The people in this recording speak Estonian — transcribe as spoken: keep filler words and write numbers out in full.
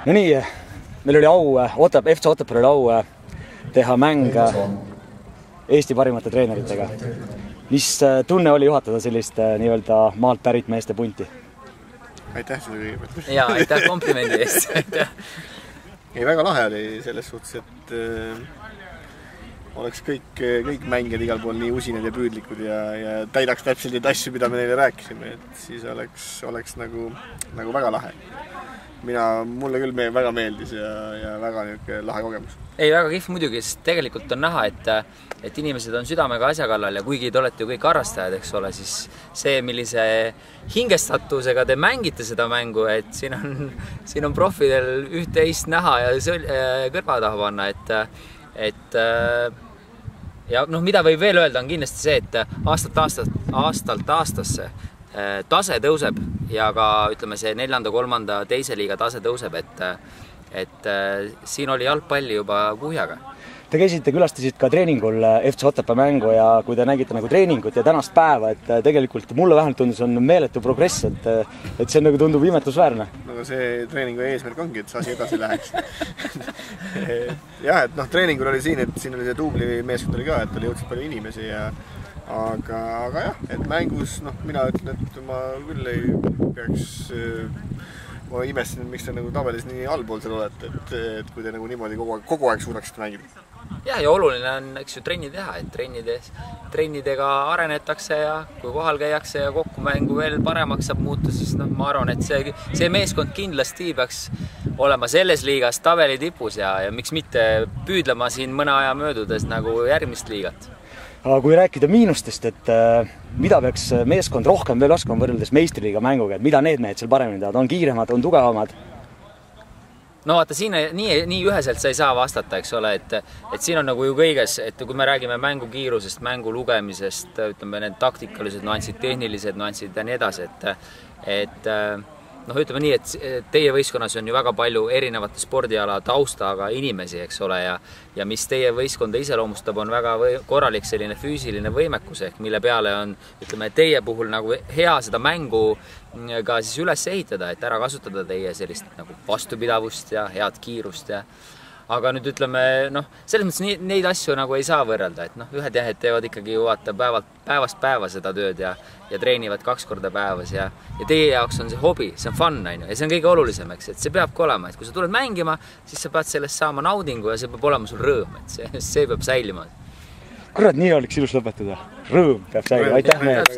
No nii, meil oli au, Otep, F C Otepääl oli au teha mäng Eesti parimate treeneritega. Mis tunne oli juhatada sellist nii-öelda maalt pärit meeste punti? Aitäh selle kõigepealt. Jaa, aitäh komplimendi eest. Ei, väga lahe oli selles suhtes, et äh, oleks kõik, kõik mängijad igal pool nii usinad ja püüdlikud ja, ja täidaks täpselt neid asju, mida me neile rääkisime, et siis oleks, oleks nagu, nagu väga lahe. Mina, mulle küll me, väga meeldis ja, ja väga niisugune lahe kogemus. Ei, väga kihv muidugi, sest tegelikult on näha, et, et inimesed on südamega asja kallal ja kuigi te olete ju kõik harrastajad, eks ole, siis see, millise hingestatusega te mängite seda mängu, et siin on, siin on profidel üht-teist näha ja sõl, kõrva taha panna, et, et ja noh, mida võib veel öelda, on kindlasti see, et aastalt, aastalt, aastalt aastasse tase tõuseb ja ka ütleme see neljanda, kolmanda, teise liiga tase tõuseb, et, et siin oli jalgpalli juba kuhjaga. Te käisite, külastasid ka treeningul F C Otepää mängu ja kui te nägite nagu treeningut ja tänast päeva, et tegelikult mulle vähemalt tundus on meeletu progress, et, et see nagu tundub imetlusväärne. No see treeningu eesmärk ongi, et see asi edasi läheks. Jah, et noh, treeningul oli siin, et siin oli see duubli meeskond oli ka, et oli jõudsid palju inimesi ja Aga, aga jah, et mängus, noh, mina ütlen, et ma küll ei peaks, ma imestasin, miks te nagu tabelis nii allpool seal olete, et, et kui te nagu niimoodi kogu aeg, kogu aeg suudaksite mängida. Ja, ja oluline on, eks ju, trenni teha, et trennides, trennidega arenetakse ja kui kohal käiakse ja kokkumängu veel paremaks saab muuta, siis noh, ma arvan, et see, see meeskond kindlasti peaks olema selles liigas tabeli tipus ja, ja miks mitte püüdlema siin mõne aja möödudes nagu järgmist liigat. Aga kui rääkida miinustest, et äh, mida peaks meeskond rohkem veel oskama võrreldes meistriliiga mänguga, et mida need mehed seal paremini teavad, on kiiremad, on tugevamad? No vaata, siin nii, nii üheselt sa ei saa vastata, eks ole, et, et siin on nagu ju kõiges, et kui me räägime mängu kiirusest, mängu lugemisest, ütleme need taktikalised nuansid, tehnilised nuansid ja nii edasi, et, et noh, ütleme nii, et teie võistkonnas on ju väga palju erinevate spordiala taustaga inimesi, eks ole, ja, ja mis teie võistkonda iseloomustab, on väga või, korralik selline füüsiline võimekus, ehk mille peale on, ütleme, teie puhul nagu hea seda mängu ka siis üles ehitada, et ära kasutada teie sellist nagu vastupidavust ja head kiirust ja aga nüüd ütleme, noh, selles mõttes nii, neid asju nagu ei saa võrrelda, et noh, ühed jahed teevad ikkagi vaata päevalt, päevast päeva seda tööd ja, ja treenivad kaks korda päevas ja, ja teie jaoks on see hobi, see on fun, on ju, ja see on kõige olulisem, eks, et see peabki olema, et kui sa tuled mängima, siis sa pead sellest saama naudingu ja see peab olema sul rõõm, et see, see peab säilima. Kurat, nii oleks ilus lõpetada. Rõõm peab säilima, aitäh meile!